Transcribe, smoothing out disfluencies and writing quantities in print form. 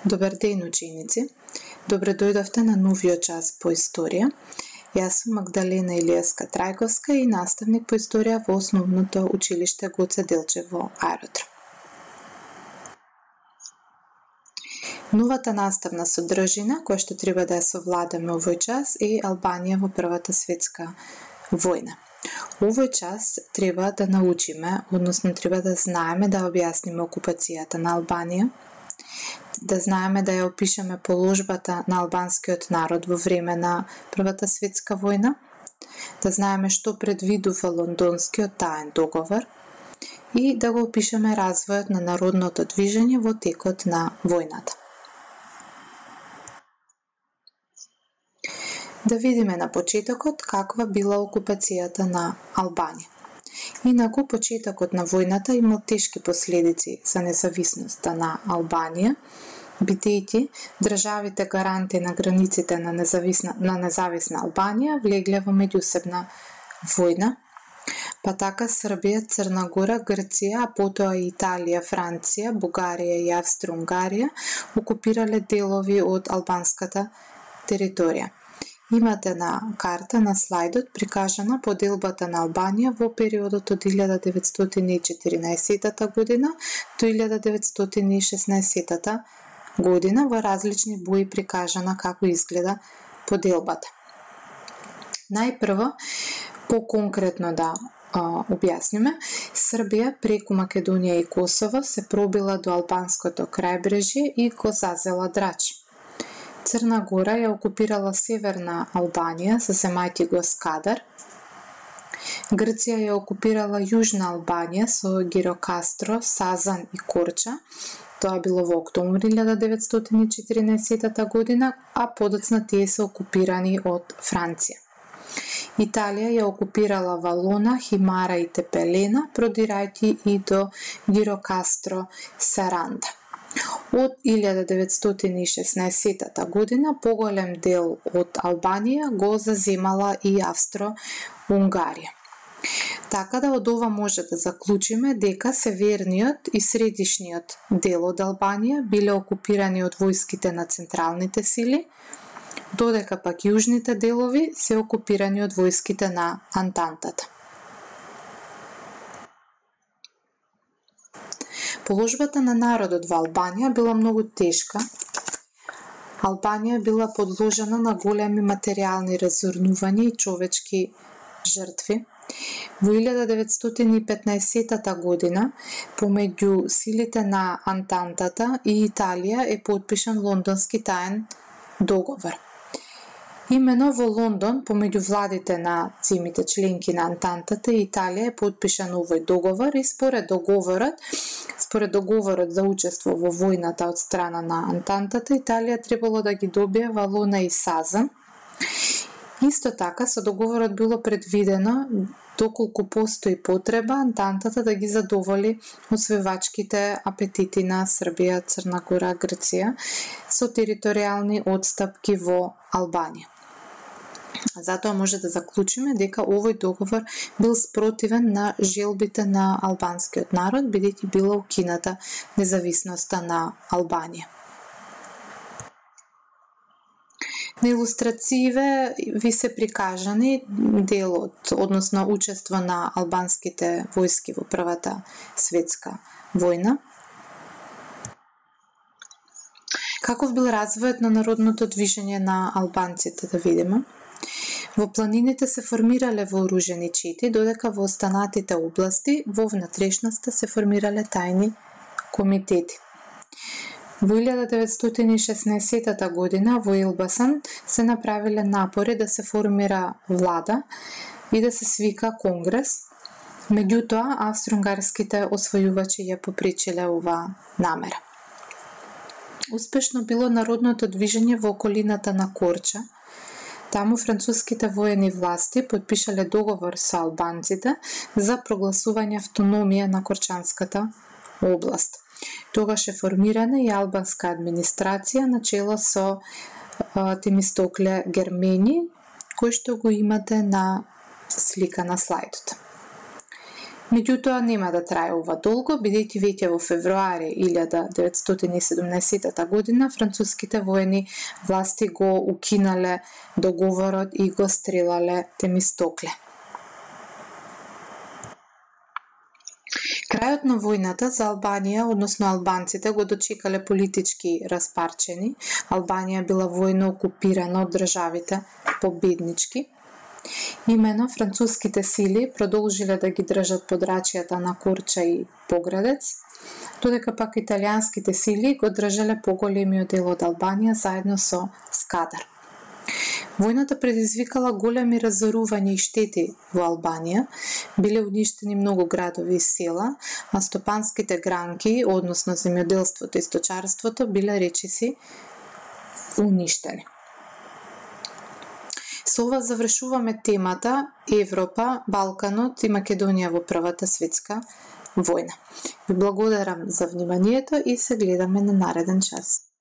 Добар ден, ученици! Добре дојдовте на новиот час по историја. Јас сум Магдалена Илиевска Трајковска и наставник по историја во Основното училиште Гоце Делчев во Аеродром. Новата наставна содржина која што треба да ја совладаме овој час е Албанија во Првата светска војна. Овој час треба да научиме, односно треба да знаеме да објасниме окупацијата на Албанија, да знаеме да ја опишеме положбата на албанскиот народ во време на Првата светска војна, да знаеме што предвидува Лондонскиот таен договор и да го опишеме развојот на народното движење во текот на војната. Да видиме на почетокот каква била окупацијата на Албанија. Инаку, почетокот на војната имал тешки последици за независноста на Албанија, бидејќи државите гаранти на границите на независна Албанија влегле во меѓусебна војна, па така Србија, Црна Гора, Грција, а потоа и Италија, Франција, Бугарија и Австро-Унгарија окупирале делови од албанската територија. Имате на карта на слайдот прикажана поделбата на Албанија во периодот од 1914 година до 1916 година во различни бои прикажана како изгледа поделбата. Најпрво, поконкретно да објасниме, Србија преку Македонија и Косово се пробила до албанското крајбрежје и го зазела Драч. Црна Гора ја окупирала северна Албанија, заземајќи го Скадар. Грција ја окупирала јужна Албанија со Гирокастро, Сазан и Корча. Тоа било во октомври 1914 година, а подоцна тие се окупирани од Франција. Италија ја окупирала Валона, Химара и Тепелена, продирајќи и до Гирокастро, Саранда. Од 1916 година поголем дел од Албанија го заземала и Австро-Унгарија. Така да од ова може да заклучиме дека северниот и средишниот дел од Албанија биле окупирани од војските на централните сили, додека пак јужните делови се окупирани од војските на Антантата. Положбата на народот во Албанија била многу тешка. Албанија била подложена на големи материјални разорнувања и човечки жртви. Во 1915 година, помеѓу силите на Антантата и Италија е подпишан Лондонски таен договор. Имено во Лондон, помеѓу владите на земјите членки на Антантата и Италија е подпишан овој договор и според договорот за учество во војната од страна на Антантата, Италија требало да ги добие Валона и Сазан. Исто така, со договорот било предвидено доколку постои потреба Антантата да ги задоволи освојувачките апетити на Србија, Црна Гора, Грција со територијални отстапки во Албанија. Затоа може да заклучиме дека овој договор бил спротивен на желбите на албанскиот народ, бидејќи била укината независноста на Албанија. На илустрацииве ви се прикажани делот, односно учество на албанските војски во Првата светска војна. Каков бил развојот на народното движење на албанците, да видиме? Во планините се формирале вооружени чети, додека во останатите области во внатрешноста се формирале тајни комитети. Во 1916 година во Елбасан се направиле напори да се формира влада и да се свика конгрес, меѓутоа австро-унгарските освојувачи ја попречиле оваа намера. Успешно било народното движење во околината на Корча. Таму француските воени власти подпишале договор со албанците за прогласување автономија на Корчанската област. Тогаш е формирана и албанска администрација на чело со Темистокле Гермени, кој што го имате на слика на слайдот. Меѓутоа нема да трае ова долго, бидејќи веќе во февруари 1917 година француските воени власти го укинале договорот и го стрелале Темистокле. Крајот на војната за Албанија, односно албанците, го дочекале политички распарчени. Албанија била војно окупирана од државите победнички. Имено француските сили продолжиле да ги држат подрачјата на Корча и Поградец, додека пак италијанските сили го држале поголемиот дел од Албанија заедно со Скадар. Војната предизвикала големи разорувања и штети во Албанија, биле уништени многу градови и села, а стопанските гранки, односно земјоделството и сточарството, биле речиси уништени. Со ова завршуваме темата Европа, Балканот и Македонија во Првата светска војна. Ви благодарам за вниманието и се гледаме на нареден час.